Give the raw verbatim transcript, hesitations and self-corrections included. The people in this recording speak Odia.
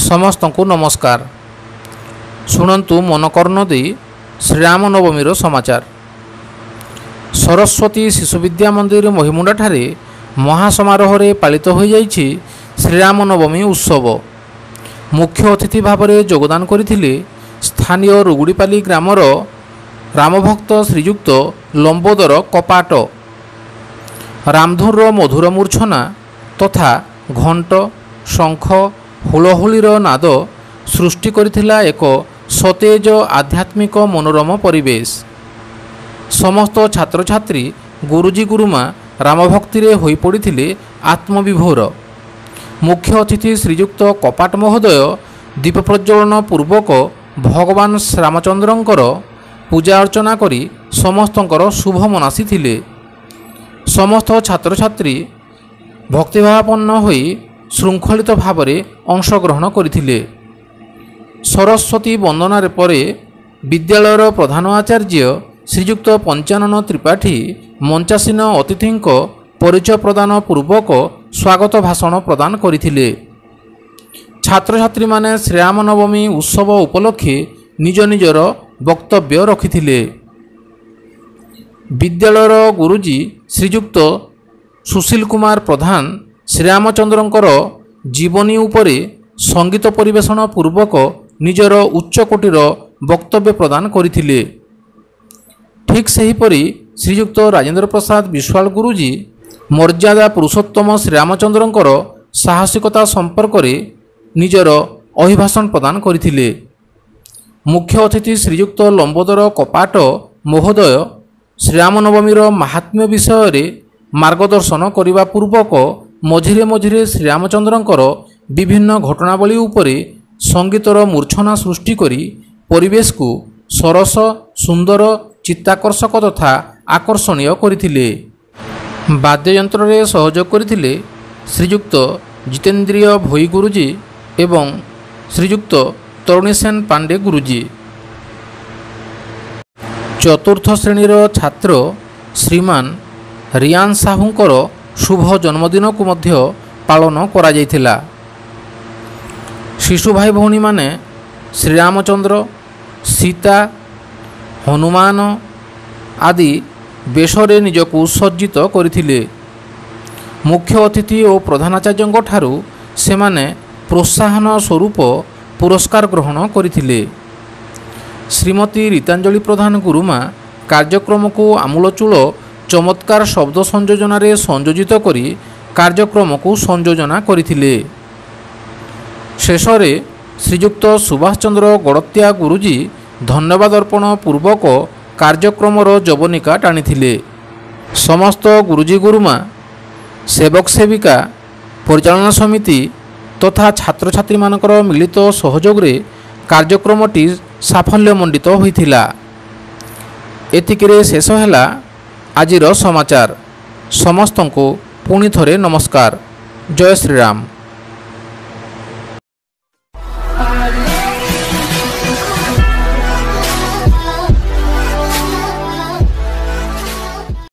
ସମସ୍ତଙ୍କୁ ନମସ୍କାର। ଶୁଣନ୍ତୁ ମନକର୍ଣ୍ଣ ଦେଇ ଶ୍ରୀରାମ ନବମୀର ସମାଚାର। ସରସ୍ୱତୀ ଶିଶୁ ବିଦ୍ୟା ମନ୍ଦିର ମହିମୁଣ୍ଡାଠାରେ ମହାସମାରୋହରେ ପାଳିତ ହୋଇଯାଇଛି ଶ୍ରୀରାମ ନବମୀ ଉତ୍ସବ। ମୁଖ୍ୟ ଅତିଥି ଭାବରେ ଯୋଗଦାନ କରିଥିଲେ ସ୍ଥାନୀୟ ରୁଗୁଡ଼ିପାଲି ଗ୍ରାମର ରାମଭକ୍ତ ଶ୍ରୀଯୁକ୍ତ ଲମ୍ବୋଦର କପାଟ। ରାମଧୁନର ମଧୁର ମୂର୍ଚ୍ଛନା ତଥା ଘଣ୍ଟ, ଶଙ୍ଖ, ହୁଳହୁଳିର ନାଦ ସୃଷ୍ଟି କରିଥିଲା ଏକ ସତେଜ ଆଧ୍ୟାତ୍ମିକ ମନୋରମ ପରିବେଶ। ସମସ୍ତ ଛାତ୍ରଛାତ୍ରୀ, ଗୁରୁଜୀ ଗୁରୁମା ରାମଭକ୍ତିରେ ହୋଇପଡ଼ିଥିଲେ ଆତ୍ମବିଭୋର। ମୁଖ୍ୟ ଅତିଥି ଶ୍ରୀଯୁକ୍ତ କପାଟ ମହୋଦୟ ଦୀପ ପ୍ରଜ୍ୱଳନ ପୂର୍ବକ ଭଗବାନ ଶ୍ରୀରାମଚନ୍ଦ୍ରଙ୍କର ପୂଜା ଅର୍ଚ୍ଚନା କରି ସମସ୍ତଙ୍କର ଶୁଭ ମନାସିଥିଲେ। ସମସ୍ତ ଛାତ୍ରଛାତ୍ରୀ ଭକ୍ତିଭାବାପନ୍ନ ହୋଇ ଶୃଙ୍ଖଳିତ ଭାବରେ ଅଂଶଗ୍ରହଣ କରିଥିଲେ। ସରସ୍ୱତୀ ବନ୍ଦନାରେ ପରେ ବିଦ୍ୟାଳୟର ପ୍ରଧାନ ଆଚାର୍ଯ୍ୟ ଶ୍ରୀଯୁକ୍ତ ପଞ୍ଚାନନ ତ୍ରିପାଠୀ ମଞ୍ଚାସୀନ ଅତିଥିଙ୍କ ପରିଚୟ ପ୍ରଦାନ ପୂର୍ବକ ସ୍ୱାଗତ ଭାଷଣ ପ୍ରଦାନ କରିଥିଲେ। ଛାତ୍ରଛାତ୍ରୀମାନେ ଶ୍ରୀରାମ ନବମୀ ଉତ୍ସବ ଉପଲକ୍ଷେ ନିଜ ନିଜର ବକ୍ତବ୍ୟ ରଖିଥିଲେ। ବିଦ୍ୟାଳୟର ଗୁରୁଜୀ ଶ୍ରୀଯୁକ୍ତ ସୁଶୀଲ କୁମାର ପ୍ରଧାନ ଶ୍ରୀରାମଚନ୍ଦ୍ରଙ୍କର ଜୀବନୀ ଉପରେ ସଙ୍ଗୀତ ପରିବେଷଣ ପୂର୍ବକ ନିଜର ଉଚ୍ଚକୋଟୀର ବକ୍ତବ୍ୟ ପ୍ରଦାନ କରିଥିଲେ। ଠିକ୍ ସେହିପରି ଶ୍ରୀଯୁକ୍ତ ରାଜେନ୍ଦ୍ର ପ୍ରସାଦ ବିଶ୍ୱାଳ ଗୁରୁଜୀ ମର୍ଯ୍ୟାଦା ପୁରୁଷୋତ୍ତମ ଶ୍ରୀରାମଚନ୍ଦ୍ରଙ୍କର ସାହସିକତା ସମ୍ପର୍କରେ ନିଜର ଅଭିଭାଷଣ ପ୍ରଦାନ କରିଥିଲେ। ମୁଖ୍ୟ ଅତିଥି ଶ୍ରୀଯୁକ୍ତ ଲମ୍ବୋଦର କପାଟ ମହୋଦୟ ଶ୍ରୀରାମନବମୀର ମାହାତ୍ମ୍ୟ ବିଷୟରେ ମାର୍ଗଦର୍ଶନ କରିବା ପୂର୍ବକ ମଝିରେ ମଝିରେ ଶ୍ରୀରାମଚନ୍ଦ୍ରଙ୍କର ବିଭିନ୍ନ ଘଟଣାବଳୀ ଉପରେ ସଙ୍ଗୀତର ମୂର୍ଚ୍ଛନା ସୃଷ୍ଟି କରି ପରିବେଶକୁ ସରସ, ସୁନ୍ଦର, ଚିତ୍ତାକର୍ଷକ ତଥା ଆକର୍ଷଣୀୟ କରିଥିଲେ। ବାଦ୍ୟଯନ୍ତ୍ରରେ ସହଯୋଗ କରିଥିଲେ ଶ୍ରୀଯୁକ୍ତ ଜିତେନ୍ଦ୍ରିୟ ଭୋଇ ଗୁରୁଜୀ ଏବଂ ଶ୍ରୀଯୁକ୍ତ ତରୁଣୀସେନ ପାଣ୍ଡେ ଗୁରୁଜୀ। ଚତୁର୍ଥ ଶ୍ରେଣୀର ଛାତ୍ର ଶ୍ରୀମାନ ରିୟାନ ସାହୁଙ୍କର ଶୁଭ ଜନ୍ମଦିନକୁ ମଧ୍ୟ ପାଳନ କରାଯାଇଥିଲା। ଶିଶୁ ଭାଇ ଭଉଣୀମାନେ ଶ୍ରୀରାମଚନ୍ଦ୍ର, ସୀତା, ହନୁମାନ ଆଦି ବେଶରେ ନିଜକୁ ସଜ୍ଜିତ କରିଥିଲେ। ମୁଖ୍ୟ ଅତିଥି ଓ ପ୍ରଧାନାଚାର୍ଯ୍ୟଙ୍କ ଠାରୁ ସେମାନେ ପ୍ରୋତ୍ସାହନ ସ୍ୱରୂପ ପୁରସ୍କାର ଗ୍ରହଣ କରିଥିଲେ। ଶ୍ରୀମତୀ ରୀତାଞ୍ଜଳି ପ୍ରଧାନ ଗୁରୁମା କାର୍ଯ୍ୟକ୍ରମକୁ ଆମୂଳଚୂଳ ଚମତ୍କାର ଶବ୍ଦ ସଂଯୋଜନାରେ ସଂଯୋଜିତ କରି କାର୍ଯ୍ୟକ୍ରମକୁ ସଂଯୋଜନା କରିଥିଲେ। ଶେଷରେ ଶ୍ରୀଯୁକ୍ତ ସୁଭାଷ ଚନ୍ଦ୍ର ଗଡ଼ତ୍ୟା ଗୁରୁଜୀ ଧନ୍ୟବାଦ ଅର୍ପଣ ପୂର୍ବକ କାର୍ଯ୍ୟକ୍ରମର ଯବନିକା ଟାଣିଥିଲେ। ସମସ୍ତ ଗୁରୁଜୀ ଗୁରୁମା, ସେବକ ସେବିକା, ପରିଚାଳନା ସମିତି ତଥା ଛାତ୍ରଛାତ୍ରୀମାନଙ୍କର ମିଳିତ ସହଯୋଗରେ କାର୍ଯ୍ୟକ୍ରମଟି ସାଫଲ୍ୟମଣ୍ଡିତ ହୋଇଥିଲା। ଏତିକିରେ ଶେଷ ହେଲା ଆଜିର ସମାଚାର। ସମସ୍ତଙ୍କୁ ପୁଣି ଥରେ ନମସ୍କାର। ଜୟ ଶ୍ରୀରାମ।